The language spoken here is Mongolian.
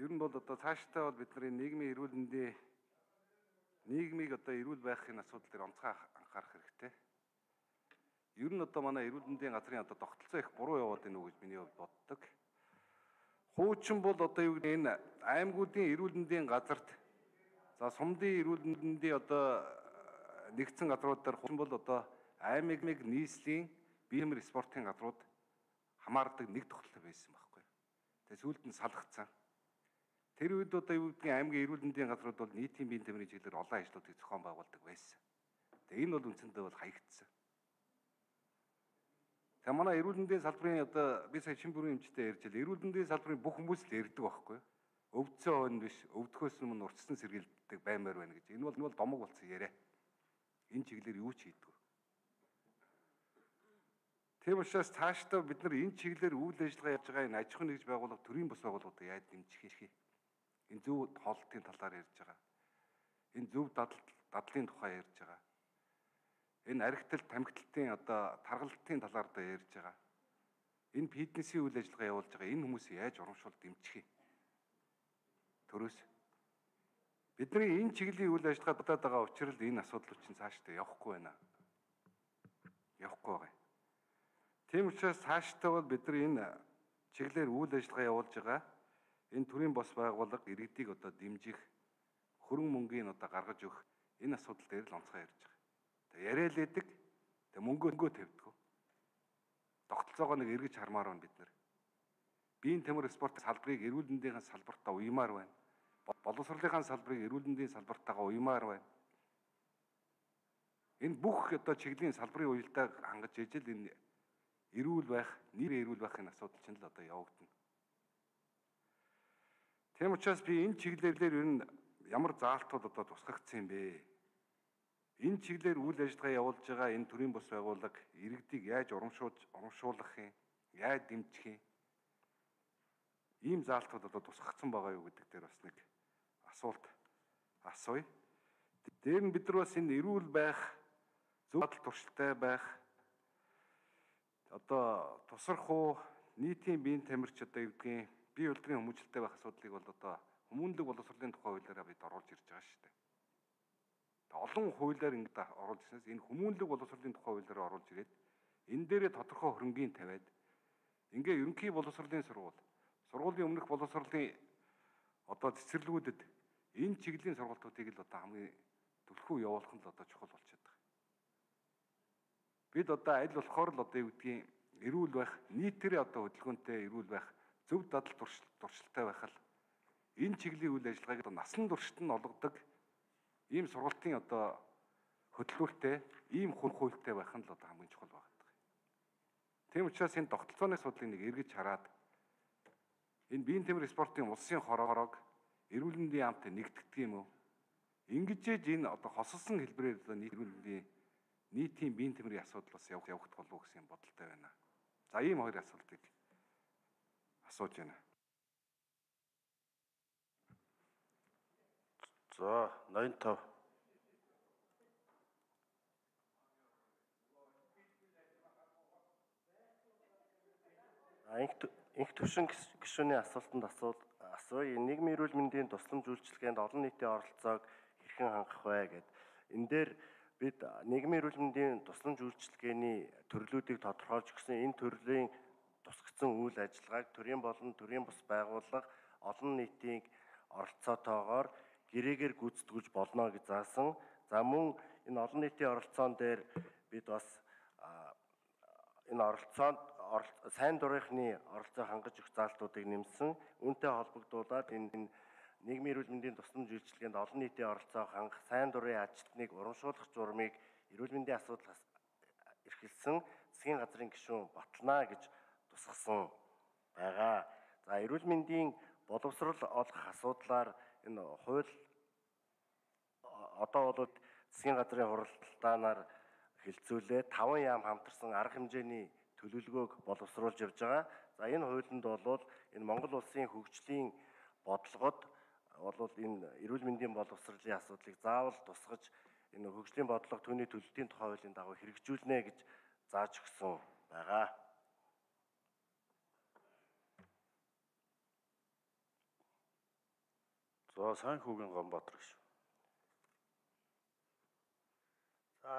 Ер нь бол одоо цаашдаа бол бидний нийгмийн эрүүл мэндийн нийгмийг одоо эрүүл байхын асуудал дээр онцгой анхаарах хэрэгтэй. Ер нь одоо манай эрүүл мэндийн газрын одоо тогтолцоо их буруу яваад байна уу гэж миний хувьд боддог. Хуучин бол одоо юу гэдэг энэ аймагуудын эрүүл мэндийн газарт за сумдын эрүүл мэндийн одоо нэгдсэн газруудаар хуучин бол одоо аймаг нийслэлийн биемэр спортын газрууд хамаардаг нэг тогтолцоо байсан байхгүй. Тэгээ сүүлд нь салгацсан. Тэр үед одоо юу гэдгийг аймгийн эрүүл мэндийн газрууд бол нийтийн биеийн тэмрийн чиглэлээр олон ажлуудыг зохион байгуулдаг байсан. Тэгээ энэ бол үндсэндээ бол хаягдсан. Тэгээ манай эрүүл мэндийн салбарын одоо би сая шин бүрийн эмчтэй ярьж байл. Эрүүл мэндийн салбарын бүх хүмүүс л ярьдаг байхгүй. Өвдсөн хойно биш, өвдөхөөс өмнө урьдчилан сэргийлдэг баймаар байна гэж. Энэ бол домог болсон яриа. Энэ чиглэлээр юу ч хийдэггүй. Тийм учраас цаашдаа бид нар энэ чиглэлээр үйл ажиллагаа явуулж байгаа энэ аж ахуйн нэгж байгууллага төрийн бус байгууллагуудыг яаж дэмжих вэ? Энэ зөв хоолтын талаар ярьж байгаа. Энэ зөв дадлын тухай ярьж байгаа. Энэ архитал тамхиталтын одоо тархалтын талаар да ярьж байгаа. Энэ фитнесийн үйл ажиллагаа явуулж байгаа энэ хүмүүсийг яаж урамшуул дэмжих вэ? Төрөөс бидний энэ чиглэлийн үйл ажиллагаа дутаад байгаа учраас энэ асуудал чинь цаашдаа явахгүй байна. Явахгүй байгаа. Тийм учраас цаашдаа бол бид нар энэ чиглэлээр үйл ажиллагаа явуулж байгаа энэ төрийн бос байгууллага иргэдийг одоо дэмжих хөрөнгө мөнгөний одоо гаргаж өгөх энэ асуудал дээр л онцгой ярьж байгаа. Тэгээ яриа л эдэг. Тэгээ мөнгөө тавьдаг. Тогтолцоогоо нэг эргэж хармаар байна бид нар. Биеийн тамир спорт салбарыг эрүүл мэндийн салбартаа уймаар байна. Боловсролынхаа салбарыг эрүүл мэндийн салбартаагаа уймаар байна. Энэ бүх одоо чиглэлийн салбарын уялдааг хангаж ижил энэ эрүүл байх, нэр эрүүл байхын асуудал чинь л одоо явагдана. Тийм учраас би энэ чиглэлээр ер нь ямар заалтууд одоо тусгагдсан юм бэ? Энэ чиглэлээр үйл ажиллагаа явуулж байгаа энэ төрийн бус байгууллага иргэдийг яаж урамшуулах юм, яаж дэмжих юм? Ийм заалтууд одоо тусгагдсан байгаа юу гэдэг дээр бас нэг асуулт асууя. Дээр нь бид нар бас энэ эрүүл байх, зөв дадал туршилттай байх, одоо тусархуу нийтийн биеийн тамирч одоо юу гэдгийг бие удирдлагын хүмүүжлэлтэй байх асуудлыг бол одоо хүмүүнлэг боловсролын тухай хуулиараа бид оруулж ирж байгаа шүү дээ. Олон хуулиар ингэж оруулж ирснээс энэ хүмүүнлэг боловсролын тухай хуулиараа оруулж ирээд энэ дээрээ тодорхой хөрөнгийн тавиад ингээ ерөнхий боловсролын сургуулийн өмнөх боловсролын одоо цэцэрлэгүүдэд энэ чиглэлийн сургалтуудыг л одоо хамгийн түлхүү явуулах нь л одоо чухал болчиход байгаа. Бид одоо аль болохоор л одоо юу гэдгийг эрүүл байх, нийтээрээ одоо хөдөлгөөнтэй эрүүл байх, зөв дадал туршилттай байх л энэ чиглэлийн үйл ажиллагааг одоо насан туршид нь олгодог ийм сургалтын одоо хөтөлбөртэй, ийм хуультай байх нь л одоо хамгийн чухал байгаа. Тийм учраас энэ тогтолцооны асуудлыг нэг эргэж хараад энэ биеийн тамир спортын улсын хорог эрүүл мэндийн яамтай нэгтгэдэг юм уу? Ингэжээж энэ одоо хосолсон хэлбэрээр одоо нийтийн биеийн тамирын асуудал бас явах болов уу гэсэн бодолтой байна. За ийм хоёр асуултыг асууж байна. За 85. Инх төвшин гишүүний асуултанд асууя. Нийгмийн эрүүл мэндийн тусламж үйлчилгээнд олон нийтийн оролцоог хэрхэн хангах вэ гэд. Энэ дээр бид нийгмийн эрүүл мэндийн тусламж үйлчилгээний төрлүүдийг тодорхойлж өгсөн. Энэ төрлийн тусгацсан үйл ажиллагааг төрийн болон төрийн бус байгууллага олон нийтийн оролцоотойгоор гэрээгээр гүйцэтгүүлж болно гэж заасан. За мөн энэ олон нийтийн оролцоон дээр бид бас энэ оролцоонд сайн дурынхны оролцоо хангаж өгөх заалтуудыг нэмсэн. Үүнтэй холбогдуулаад энэ нийгмийн эрүүл мэндийн тусламж үйлчилгээнд олон нийтийн оролцоо хангах сайн дурын ажилтныг урамшуулах журмыг эрүүл мэндийн асуудал эрхэлсэн засгийн газрын гишүүн батлана гэж тусгасан байгаа. За эрүүл мэндийн боловсрол олох асуудлаар энэ хууль одоо бол засгийн газрын хуралдаанаар хэлцүүлээ 5 яам хамтарсан арга хэмжээний төлөвлөгөөг боловсруулж явж байгаа. За энэ хуулинд бол энэ Монгол улсын хөгжлийн бодлогод бол энэ эрүүл мэндийн боловсролын асуудлыг заавал тусгаж энэ хөгжлийн бодлого түүний төлөлтийн тухай хуулийн дагуу хэрэгжүүлнэ гэж зааж өгсөн байгаа. За Сайнхүүгийн Гомбаатар гэж. За